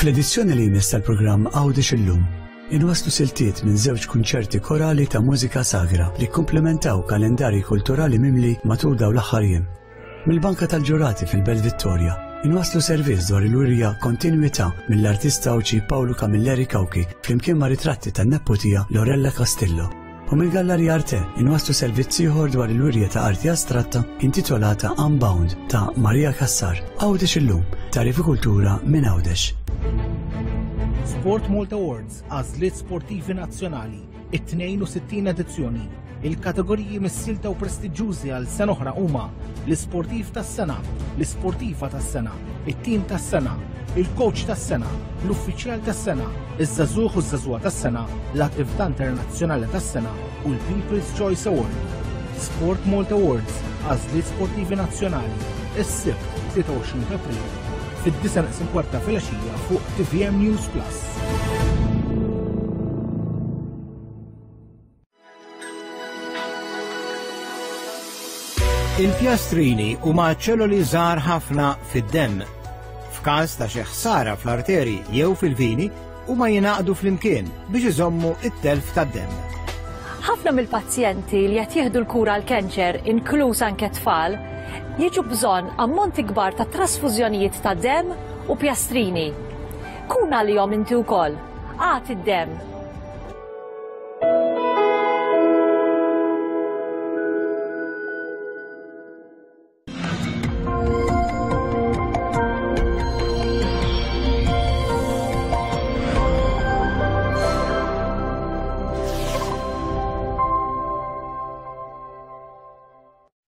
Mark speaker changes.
Speaker 1: Fl-edizzjoni li jmiss tal-programm Għawdex Illum, inwasslu siltiet minn żewġ kunċerti korali ta' mużika sagra li kkumplementaw kalendarji kulturali mimli matul dawn l-aħħar jiem. Mill-Banka tal-Ġurati fil-Belt Vittoria, inwasslu servizz dwar il-wirja Kontinwità mill-artista Għawdxi Pawlu Camilleri Cauchi flimkien ma' ritratti tan-nepputija Lorella Castillo. U mill-Gallerija Arte inwasslu servizz ieħor dwar il-wirja ta' arti astratta intitolata Unbound ta' Maria Cassar. Għawdex illum, tagħrif u kultura minn Għawdex.
Speaker 2: Sport Malta Awards, għażliet sportivi nazzjonali, it-62 edizzjoni. Il-kategoriji mis-silta u prestiġjużi għal sena oħra huma l-isportiv tas-sena, l-isportiva tas-sena, it-tim tas-sena, il-coach tas-sena, l-uffiċjal tas-sena, iż-żagħżugħ u ż-żagħżugħa tas-sena, l-attività internazzjonali tas-sena u l-People's Choice Award. Sport Malta Awards, għażliet sportivi nazzjonali, is-Sibt 23 ta' April, fid-9 neqsin kwarta filgħaxija fuq TVM News Plus.
Speaker 3: Il-pjastrini huma ċelloli żgħar ħafna fid-demm. F'każ ta' xi ħsara fl-arteri jew fil-vini, huma jingħaqdu flimkien biex iżommu t-telf tad-demm.
Speaker 4: Ħafna mill-pazjenti li qed jieħdu l-kura għall-kanċer, inkluż anke tfal, jiġu bżonn ammonti kbar ta' trasfużjonijiet ta' demm u pjastrini. Kun għalihom inti wkoll. Agħti d-demm.